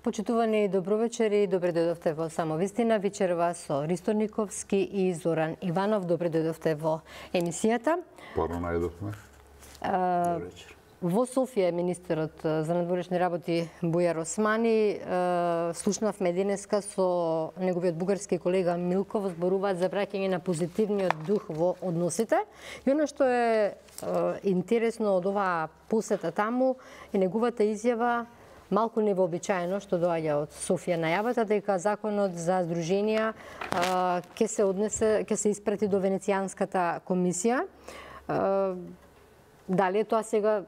Почитувани добровечери, добре дојдовте во Самовистина, вечерва со Ристо Никовски и Зоран Иванов. Добре дојдовте во емисијата. Порно најдовме. Добре вечер. Во Софија министерот за надворешни работи Бујар Османи слушнавме денеска со неговиот бугарски колега Милков, зборуваат за враќање на позитивниот дух во односите. И оно што е интересно од оваа посета таму е неговата изјава малку невообичаено што доаѓа од Софија, најавата дека законот за здруженија ќе се испрати до Венецијанската комисија. Дали е тоа сега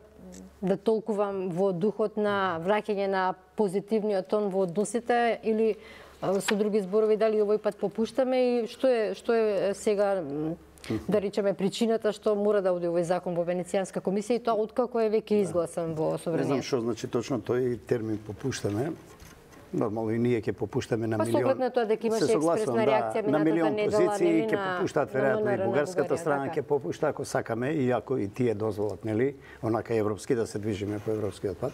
да толкувам во духот на враќање на позитивниот тон во односите или со други зборови дали овој пат попуштаме и што е сега да речеме причината што мора да оди овој закон во Венецијанска комисија и тоа откако е веќе изгласан во собранието? Не знам што значи точно тој термин попуштаме. Нормално и ние ќе попуштаме на милион. Па соглед на тоа дека имаше експресна реакција на милион недела, позиции ќе попуштаат веројатно и бугарската страна ќе попушта ако сакаме и ако и тие дозволат, нели, онака европски да се движиме по европскиот пат.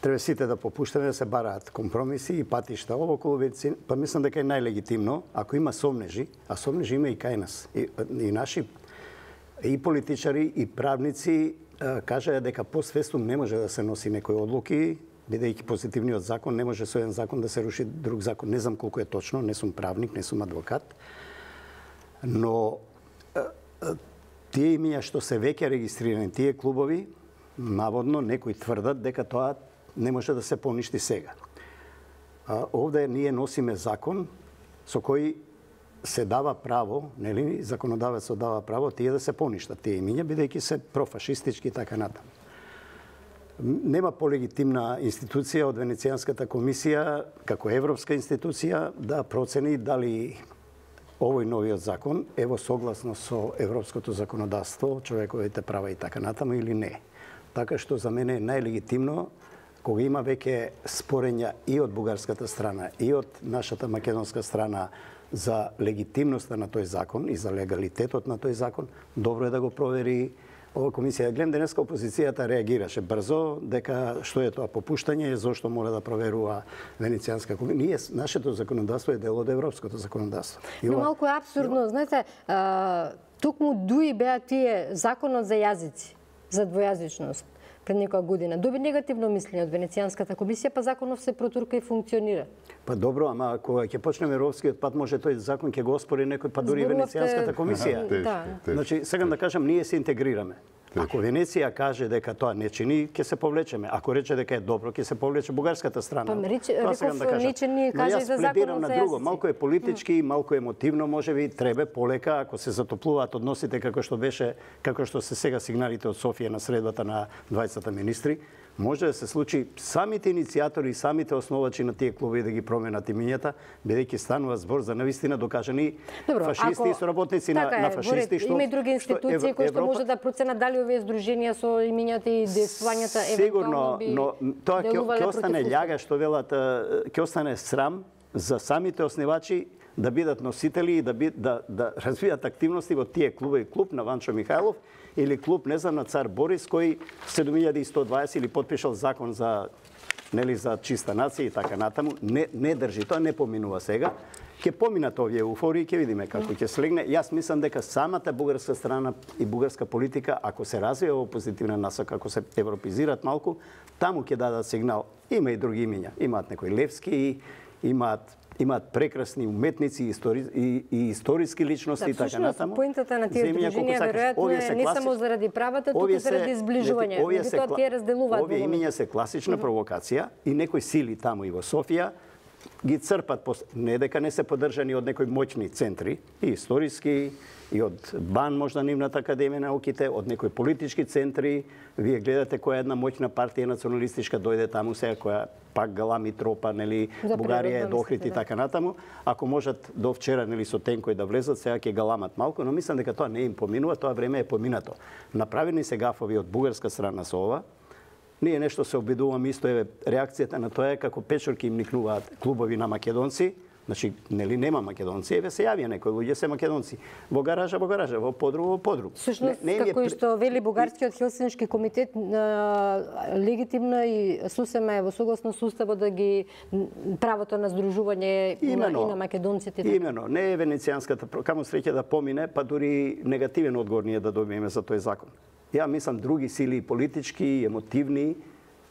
Треба сите да попуштаме, да се бараат компромиси и патишта. Ово околу Венецијан, па мислам дека е најлегитимно, ако има сомнежи, а сомнежи има и кај нас. И наши и политичари и правници кажаа дека постфестум не може да се носи некои одлуки, бидејќи позитивниот закон не може со еден закон да се руши друг закон. Не знам колку е точно, не сум правник, не сум адвокат. Но тие имиња што се веќе регистрирани, тие клубови, наводно некои тврдат дека тоа не може да се поништи сега. Овде ние носиме закон со кој се дава право, нели, законодавецот дава право тие да се поништат тие имиња, бидејќи се профашистички и така натаму. Нема полегитимна институција од Венецијанската комисија, како европска институција, да процени дали овој новиот закон е во согласно со европското законодавство, човековите права и така натаму или не. Така што за мене е најлегитимно кога има веќе спорења и од бугарската страна и од нашата македонска страна за легитимноста на тој закон и за легалитетот на тој закон, добро е да го провери ова комисија. Гледам денеска опозицијата реагираше брзо дека што е тоа попуштање, зошто мора да проверува Венецијанска комисија. Ние нашето законодавство е дел од европското законодавство. Но малку е апсурдно, знаете, токму дуи беа тие законот за јазици, за двојазичност пред некоја година. Доби негативно мислење од Венецијанската комисија, па законов се протурка и функционира. Па добро, ама кога ќе почнеме европскиот пат, може тој закон ќе го оспори некој, па дури Венецијанската комисија. Значи, сега да кажам, ние се интегрираме. Ако Венеција каже дека тоа не чини, ќе се повлечеме. Ако рече дека е добро, ќе се повлече бугарската страна. Па реков ни каже за законот на друго. Малку е политички, малку емотивно, можеби треба полека ако се затоплуваат односите како што се сега сигналите од Софија на средбата на 20 министри. Може да се случи самите иницијатори и самите основачи на тие клубови да ги променат имињата, бидејќи станува збор за навистина докажани фашисти и соработници на фашисти. Има и други институции кои што може да проценат дали овие здруженија со имињата и действувањата евентуално би но тоа ќе остане љага, што велат, ќе остане срам за самите основачи да бидат носители и да развијат активности во тие клубови, клуб на Ванчо Михајлов или клуб, не знам, на Цар Борис, кој 7120 или подпишал закон за за чиста нација и така натаму, не држи, тоа не поминува сега. Ќе поминат овие еуфории, ќе видиме како ќе слегне. Јас мислам дека самата бугарска страна и бугарска политика, ако се развие во позитивна насока, ако се европизираат малку, таму ќе дадат сигнал. Има и други имиња, имаат некои Левски, имаат прекрасни уметници и историски личности и така натаму. Поентата на тие здруженија веројатно е не само заради правата, туку заради зближување. Меѓутоа тие разделуваат. Овие имиња се класична провокација и некои сили таму и во Софија ги црпат, не дека не се поддржани од некои моćни центри, и историски, и од БАН, можда нивната академија на науките, од некои политички центри. Вие гледате која една моćна партија националистичка дојде таму сега, која пак галами тропа, нели, Бугарија е до Охрид и така натаму. Ако можат до вчера, нели, со тенкој да влезат, сега ќе галамат малку, но мислам дека тоа не им поминува, тоа време е поминато. Направени се гафови од бугарска страна со ова. Ние нешто се обидуваме, исто е реакцијата на тоа е како печорки им никнуваат клубови на македонци, Значи, нели нема македонци, еве се јавија некои луѓе се македонци. Во гаража, во подру. Всушност, како и што вели Бугарскиот Хелсиншки комитет, легитимно и сосема е во согласно со уставот да ги правото на здружување и на македонците. Имено, не е венецијанската, каму среќа да помине, па дури негативен одговор ние да добиеме за тој закон. Ја мислам други сили политички, емотивни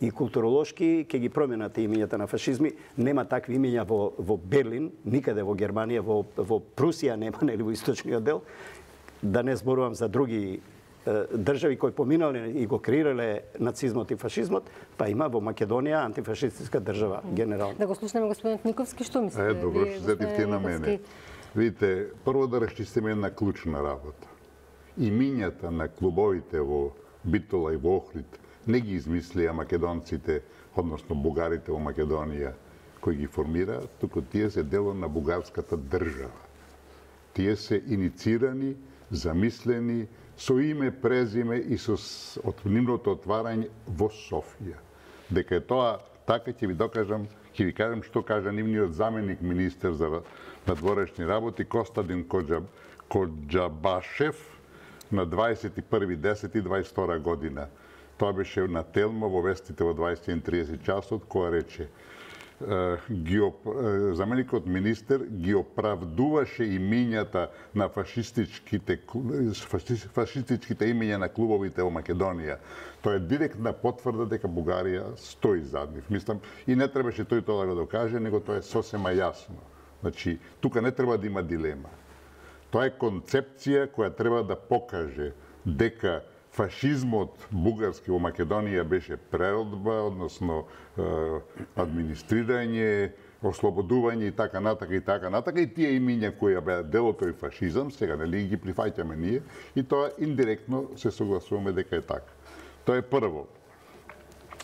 и културолошки ќе ги променат имињата на фашизми. Нема такви имиња во Берлин, никаде во Германија, во Прусија нема, нели во источниот дел. Да не зборувам за други држави кои поминале и го креирале нацизмот и фашизмот, па има во Македонија антифашистичка држава генерално. Да го слушнеме господин Никовски, што мислите? Добро, што зетивте на мене. Видите, прво да расчистиме една клучна работа. Имињата на клубовите во Битола и во Охрид не ги измислија македонците, односно бугарите во Македонија, кои ги формираат, туку тие се дело на бугарската држава. Тие се иницирани, замислени, со име, презиме и со нивното отварање во Софија. Дека е тоа така, ќе ви докажам, ќе ви кажам што кажа нивниот заменик министер за надворешни работи Костадин Коџабашев на 21.10.22 година. Тоа беше на Телмо во вестите во 20:30 часот, која рече заменикот министер ги оправдуваше имињата на фашистичките имиња на клубовите во Македонија. Тоа е директна потврда дека Бугарија стои зад нив. Мислам, и не требаше тој тоа да го докаже, него тоа е сосема јасно. Значи, тука не треба да има дилема. Тоа е концепција која треба да покаже дека фашизмот бугарски во Македонија беше преродба, односно администрирање, ослободување и така натака и тие имиња кои беа дел од тој фашизам, сега нели ги прифаќаме ние и тоа индиректно се согласуваме дека е така. Тоа е прво.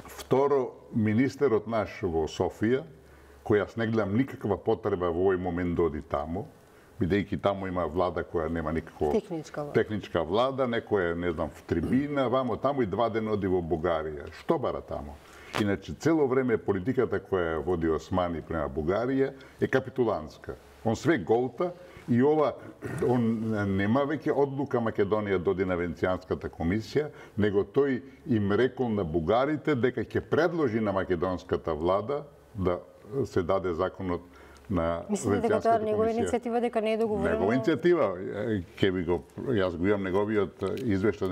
Второ, министерот наш во Софија, кој јас не гледам никаква потреба во овој момент да оди таму, бидејќи таму има влада која нема никаква техничка влада, некоја, не знам, в трибина, вамо таму и 2 дена оди во Бугарија. Што бара таму? Иначе, цело време политиката која води Османи према Бугарија е капитулантска. Он све голта и он нема веќе одлука Македонија доди на Венецијанската комисија, него тој им рекол на бугарите дека ќе предложи на македонската влада да се даде законот на Мислите дека тоа негова иницијатива, дека не е договорено? Негова иницијатива, јас го имам неговиот извештај,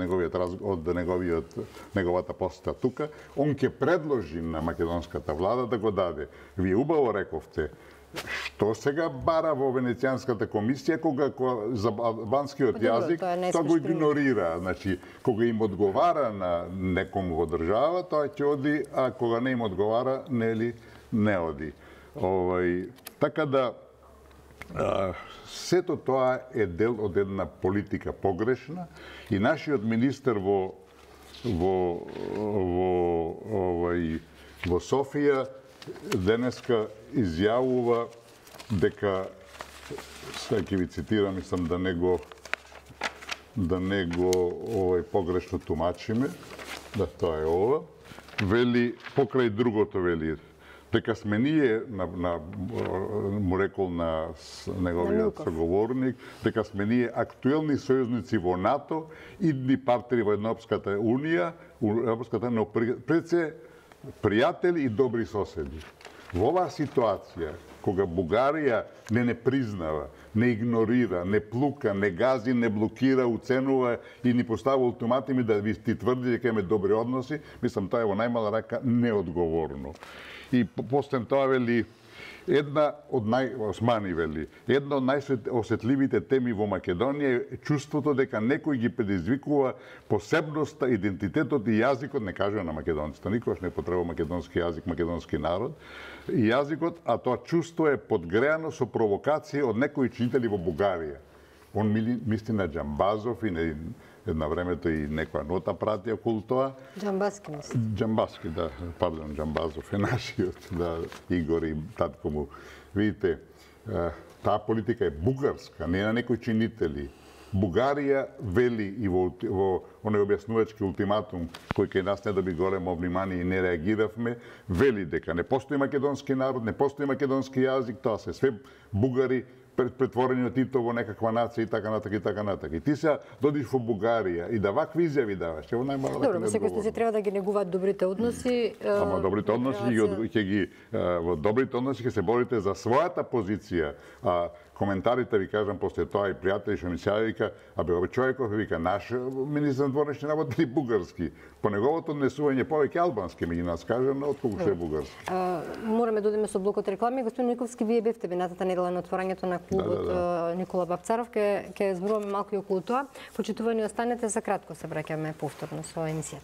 неговата посета тука, он ќе предложи на македонската влада да го даде. Вие убаво рековте, што сега бара во Венецијанската комисија кога за албанскиот јазик, тоа го игнорира. Значи, кога им одговара на некому во држава, тоа ќе оди, а кога не им одговара, нели, не оди. Така да, сето тоа е дел од една политика погрешна и нашиот министер во Софија денеска изјавува дека, сега ќе ви цитирам, мислам да не го погрешно тумачиме, да тоа е ова, вели, покрај другото вели, дека сме ние, му рекол на неговиот соговорник, дека сме ние актуелни сојузници во НАТО, идни партнери во Европската Унија, но пред се пријатели и добри соседи. Во оваа ситуација, кога Бугарија не признава, не игнорира, не плука, не гази, не блокира, уценува и ни поставува ултиматуми да ви ти тврди дека имаме добри односи, мислам тоа е во најмала рака неодговорно. И после тоа вели една од најосетливите теми во Македонија е чувството дека некој ги предизвикува посебноста, идентитетот и јазикот, не кажува на македонците, никогаш не потреба македонски јазик, македонски народ, и јазикот, а тоа чувство е подгреано со провокација од некои чинители во Бугарија. Он мисли на Џамбазов и една времето и некоја нота прати околу тоа. Џамбаски мисли. Џамбаски, да, пардон, Џамбазов е нашиот, да, Игор и татко му. Видите, таа политика е бугарска, не е на некои чинители. Бугарија вели и во оној објаснувачки ултиматум кој кај нас не доби големо внимание и не реагиравме, вели дека не постои македонски народ, не постои македонски јазик, тоа се све бугари претворени од Тито во некаква нација и така натака и така натака. И ти се додиш во Бугарија и да вакви изјави даваш, во најмало дека не секој се треба да ги негуваат добрите односи. Ама добрите односи во добрите односи ќе се борите за својата позиција. Коментарите ви кажам после тоа и пријатели што ми се вика, овој човеков вика наш министер на дворешни работи или бугарски. По неговото однесување повеќе албански меѓу нас кажам, отколку што е бугарски. Мораме да одиме со блокот реклами. Господин Никовски, вие бевте минатата недела на отворањето на клубот Никола Бапцаров, ќе зборуваме малку и околу тоа. Почитувани, останете, за кратко се враќаме повторно со емисијата.